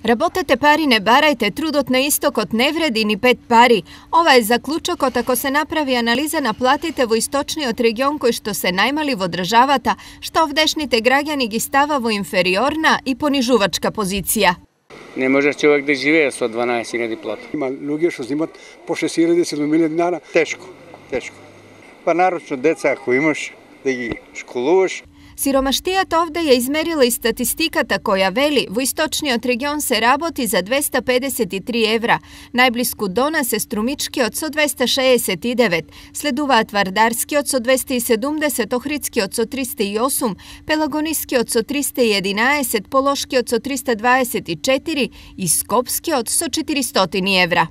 Работете пари, не барајте, трудот на истокот не вреди ни 5 пари. Ова е заклучокот ако се направи анализа на платите во источниот регион кои што се најмали во државата, што овдешните граѓани ги става во инфериорна и понижувачка позиција. Не може човек да живее со 12.000 плата. Има луѓе што земат по 6.000-7.000 динара. Тешко. Па нарочно деца ако имаш да ги школуваш. Сиромаштијата овде ја измерила и статистиката која вели во источниот регион се работи за 253 евра, најблиску до нас е Струмичкиот со 269, следуваат Вардарскиот со 270, Охридскиот со 308, Пелагонискиот со 311, Полошкиот со 324 и Скопскиот со 400 евра.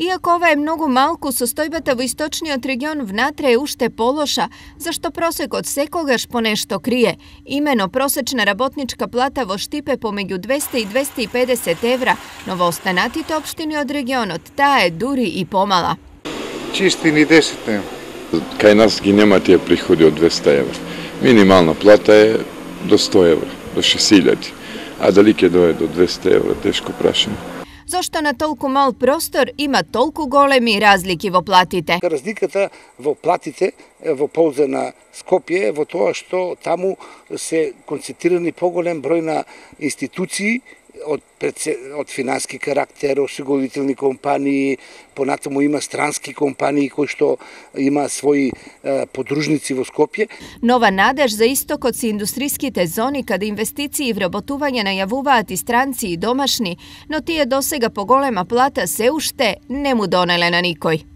Иако ова е многу малку, состојбата во источниот регион внатре е уште полоша, зашто просекот секогаш по нешто крие. Имено просечна работничка плата во Штип е помеѓу 200 и 250 евра, но во останатите општини од регионот таа е дури и помала. Чисти ни 10 нема. Кај нас ги нема тие приходи од 200 евра. Минимална плата е до 100 евра, до 6.000, а дали ќе дое до 200 евра, тешко прашање. Зошто на толку мал простор има толку големи разлики во платите? Разликата во платите во полза на Скопје е во тоа што таму се концентрирани поголем број на институции од финански карактер, осигурителни компании, понатаму има странски компании кои што има своји подружници во Скопје. Нова надеж за истокот се индустриските зони каде инвестиции и вработување најавуваат и странци и домашни, но тие досега по голема плата се уште не му донеле на никој.